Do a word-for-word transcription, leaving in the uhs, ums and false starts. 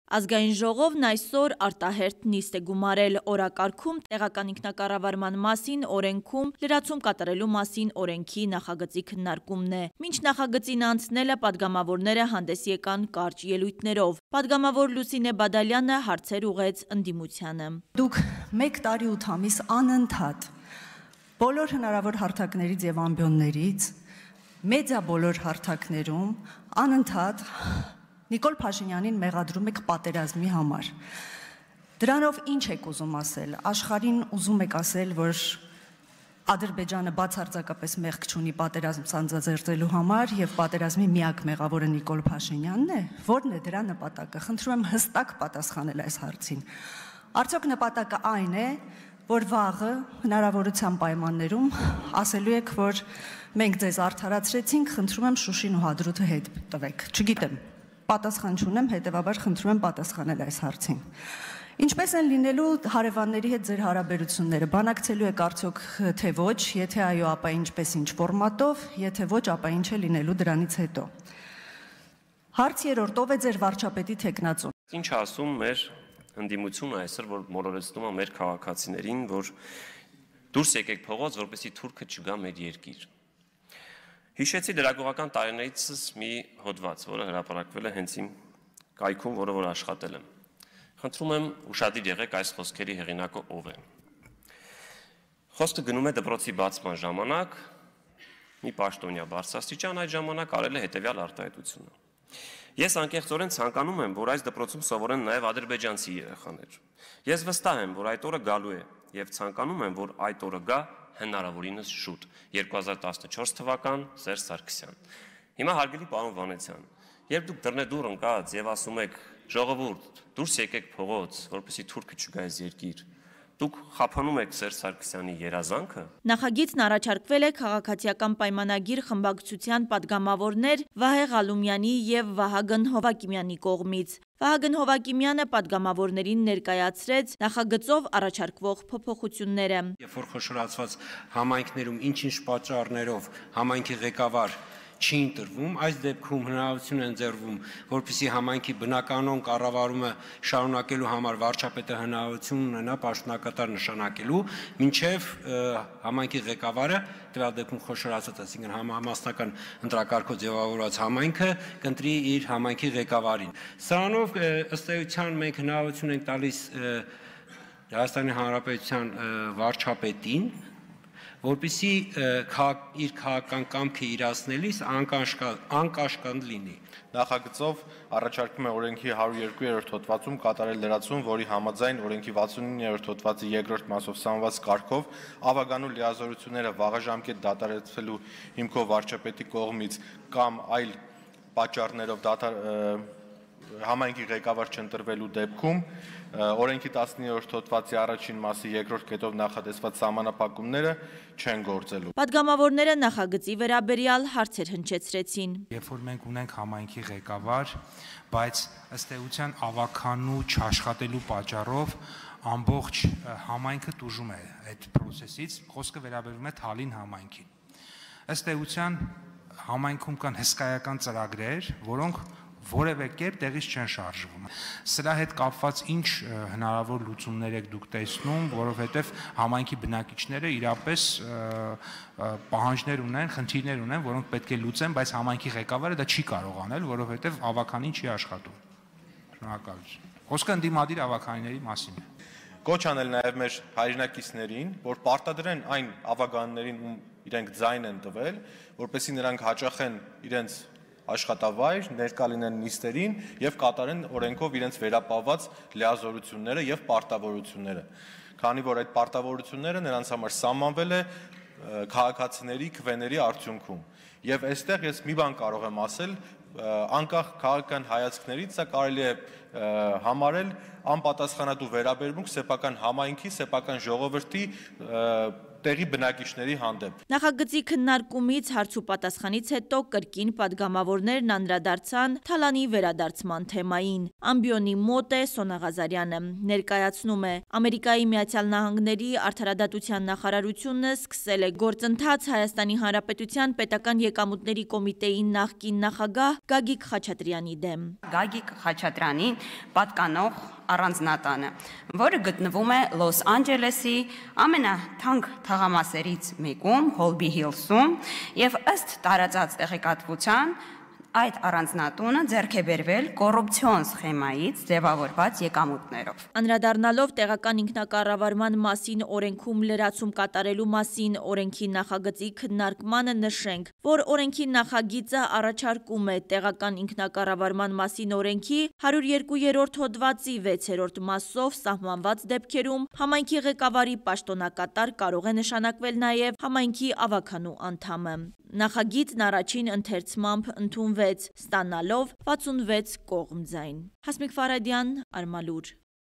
Ազգային ժողովն այսօր արտահերթ նիստ է գումարել օրակարգում տեղական ինքնակառավարման մասին օրենքում լրացում կատարելու մասին օրենքի նախագծի քննարկումն է։ Մինչ նախագծին անցնելը պատգամավորները հանդես եկան կարճ ելույթներով։ Պատգամավոր Լուսինե Բադալյանը հարցեր ուղղեց ընդդիմությանը։ Դուք մեկ տարի ութ ամիս անընդհատ բոլոր հնարավոր հարթակներից եւ ամբիոններից մեդիա բոլոր հարթակներում անընդհատ Նիկոլ Փաշինյանին մեղադրում եք պատերազմի համար։ Դրանով ինչ եք ուզում ասել։ Աշխարհին ուզում եք ասել, որ Ադրբեջանը բացարձակապես մեղք չունի պատերազմ սանձազերծելու համար եւ պատերազմի միակ մեղավորը Նիկոլ Փաշինյանն է։ Որն է դրա նպատակը։ Խնդրում եմ հստակ պատասխանել այս հարցին։ Արդյոք նպատակը այն է, որ վաղը հնարավորության պայմաններում ասելու եք, որ մենք ձեզ արդարացրեցինք, խնդրում եմ Շուշին ու Հադրութը հետ տվեք։ Չգիտեմ։ Պատասխան չունեմ, հետևաբար խնդրում եմ պատասխանել այս հարցին։ Ինչպես են լինելու հարևանների հետ ձեր հարաբերությունները, բանակցելու եք արդյոք թե ոչ, եթե այո, ապա ինչպես ինչ ֆորմատով, եթե ոչ, ապա ինչ է լինելու դրանից հետո։ Հարց երրորդ, ով է ձեր վարչապետի թեկնածուն։ Ինչ ասում մեր ընդդիմությունը այսօր, որ մոլորեցնում է մեր քաղաքացիներին, որ դուրս եկեք փողոց, որպեսզի թուրքը չգա մեր երկիր։ Հիշեցի լրագրողական տարիներիցս մի հոդված, որը հրապարակվել է հենց իմ կայքում, որը որ աշխատել եմ։ Խնդրում եմ ուշադիր եղեք այս խոսքերի հեղինակը ով է։ Խոսքը գնում է դպրոցի բացման ժամանակ, մի պաշտոնյա բարձրաստիճան այդ ժամանակ արել է հետևյալ արտահայտությունը։ Ես անկեղծորեն ցանկանում եմ, որ այս դպրոցում սովորեն նաև ադրբեջանցի երեխաներ։ Ես վստահ եմ, որ այդ օրը գալու է եւ ցանկանում եմ, որ այդ օրը գա հնարավորինս շուտ, երկու հազար տասնչորս թվական Սերժ Սարգսյան։ Հիմա հարգելի պարոն Վանեցյան, երբ դուք դռնեդուռ ընկած եւ ասում եք ժողովուրդ, դուրս եկեք փողոց, որպեսզի թուրքը չգա այս երկիր, դուք խափանում եք Սերժ Սարգսյանի երազանքը։ Նախագիծն առաջարկվել է քաղաքացիական պայմանագիր խմբակցության падգամավորներ Վահե Ղալումյանի եւ Վահագն Հովակիմյանի կողմից։ Վահագն Հովակիմյանը падգամավորներին ներկայացրեց նախագծով առաջարկվող փոփոխությունները։ Երբ որ խոշորացված համայնքներում ինչ-ինչ պատճառներով համայնքի ղեկավար չի ընտրվում, այս դեպքում հնարավորություն են ձեռվում, որպեսզի համայնքի բնականon կառավարումը շարունակելու համար վարչապետը հնարավորություն ունենա պաշտոնակատար նշանակելու, մինչև համայնքի ղեկավարը, տվյալ դեպքում խոշորացած, այսինքն համամասնական ընտրակարգով ձևավորված համայնքը կընտրի իր համայնքի ղեկավարին։ Սրանով ըստ էության մենք հնարավորություն ենք տալիս Հայաստանի Հանրապետության վարչապետին, որպեսզի իր քաղաքական կամքը իրացնելիս անկաշկանդ լինի։ Նախագծով առաջարկում է օրենքի հարյուր երկու-րդ հոդվածում կատարել լրացում, որի համաձայն օրենքի վաթսունիններորդ հոդվածի երկրորդ մասով սահմանված կարգով ավագանու լիազորությունները վաղաժամկետ դադարեցվելու հիմքով վարչապետի կողմից կամ այլ պատճառներով համայնքի ղեկավար չընտրվելու դեպքում օրենքի տասնիններորդ հոդվածի առաջին մասի երկրորդ կետով նախատեսված սահմանափակումները չեն գործելու։ Падգամավորները նախագծի վերաբերյալ հարցեր հնչեցրեցին։ Երբ որ մենք ունենք համայնքի ղեկավար, բայց ըստ էության ավագանու չաշխատելու պատճառով ամբողջ համայնքը տուժում է այդ process-ից, խոսքը վերաբերում է Թալին համայնքին։ Ըստ էության համայնքում կան հսկայական ծրագրեր, որոնք որևէ կերպ տեղից չեն շարժվում։ Սրա հետ կապված ինչ հնարավոր լուծումներ եք դուք տեսնում, որովհետև համայնքի բնակիչները իրապես պահանջներ ունեն, խնդիրներ ունեն, որոնք պետք է լուծեն, բայց համայնքի ղեկավարը դա չի կարող անել, որովհետև ավականին չի աշխատում։ Շնորհակալություն։ Խոսքը ընդդիմադիր ավականիների մասին է։ Կոչ անել նաև մեր հայրենակիցներին, որ պարտադրեն այն ավականներին, ում իրենք ձայն են տվել, որպեսզի նրանք հաճախեն իրենց աշխատավայր, ներկա լինեն նիստերին եւ կատարեն օրենքով իրենց վերապահված լիազորությունները եւ պարտավորությունները։ Քանի որ այդ պարտավորությունները նրանց համար սահմանվել է քաղաքացիների քվեների արդյունքում։ Եվ այստեղ ես մի բան կարող եմ ասել, անկախ քաղաքական հայացքներից, սա կարելի է համարել անպատասխանատու վերաբերմունք սեփական համայնքի, սեփական ժողովրդի տեղի բնակիչների հանդեպ։ Նախագծի քննարկումից հարց ու պատասխանից հետո կրկին պատգամավորներն անդրադարձան Թալանի վերադարձման թեմային։ Ամբիոնի մոտ է Սոնա Ղազարյանը, ներկայացնում է Ամերիկայի Միացյալ Նահանգների արդարադատության նախարարությունը սկսել է գործընթաց Հայաստանի Հանրապետության պետական եկամուտների կոմիտեի նախկին նախագահ Գագիկ Խաչատրյանի դեմ։ Գագիկ Խաչատրյանին պատկանող առանձնատանը, որը գտնվում է Լոս Անջելեսի ամենաթանկ թաղամասերից մեկում, Հոլբի Հիլսում, եւ ըստ տարածած տեղեկատվության այդ առանձնատունը ձեռք է բերվել կոռուպցիոն սխեմայից ձևավորված եկամուտներով։ Անդրադառնալով տեղական ինքնակառավարման մասին օրենքում լրացում կատարելու մասին օրենքի նախագծի քննարկմանը նշենք, որ օրենքի նախագիծը առաջարկում է տեղական ինքնակառավարման մասին օրենքի հարյուր երկու-րդ հոդվածի վեցերորդ մասով սահմանված դեպքերում համայնքի ղեկավարի պաշտոնակատար կարող է նշանակվել նաև համայնքի ավականու անդամը։ Նախագիծն առաջին ընթերցմամբ ընդունվեց, ստանալով վաթսունվեց կողմ ձայն։ Հասմիկ Ֆարադյան, Արմալուր։